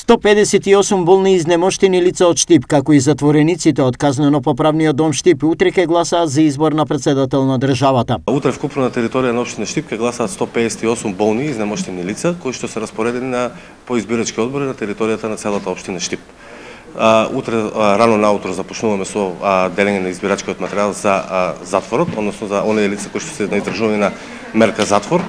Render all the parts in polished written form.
158 болни изнемоштени лица од Штип, како и затворениците од казнено-поправниот дом Штип, утре ќе гласаат за избор на председател на државата. Утре вкупно на територија на општина Штип ќе гласаат 158 болни изнемоштени лица, кои што се распоредени по избирачки одбори на територијата на целата општина Штип. Утре рано наутро започнуваме со делење на избирачкиот материјал за затворот, односно за оние лица кои што се на издржување на мерка затвор.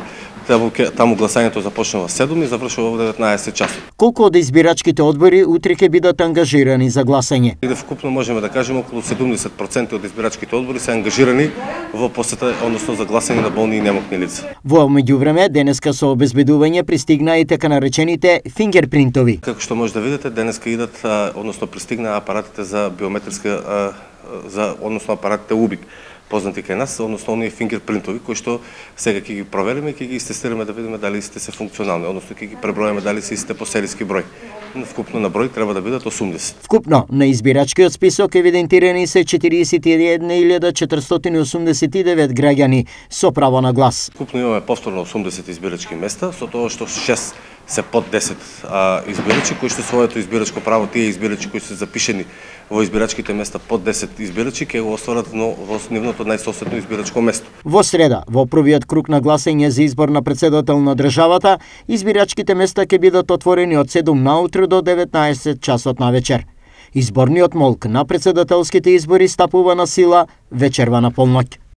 Таму гласањето започнува 7 и завршува во 19 часот. Колку од избирачките одбори утре ќе бидат ангажирани за гласање? Вкупно можеме да кажеме околу 70% од избирачките одбори се ангажирани во посета, односно за гласање на болни и немокни лица. Во меѓувреме, денеска со обезбедување пристигна и така наречените фингерпринтови. Како што може да видите, денеска идат, односно пристигна апаратите за биометриска, односно апаратите УБИК, познати кај нас, односно оние фингерпринтови кои што сега ќе ги провериме и ќе ги истестираме да видиме дали сите се функционални, односно ќе ги преброиме дали се истите по серијски број. Вкупно на број треба да бидат 80. Вкупно на избирачкиот список евидентирани се 41.489 граѓани со право на глас. Вкупно имаме повторно 80 избирачки места, со тоа што 6 се под 10 избирачи кои што своето избирачко право, тие избирачи кои се запишени во избирачките места под 10 избирачи ќе го остварат во нивното најсоседно избирачко место. Во среда, во првиот круг на гласање за избор на председател на државата, избирачките места ќе бидат отворени од 7 наутро до 19 часот на вечер. Изборниот молк на председателските избори стапува на сила вечерва на полноќ.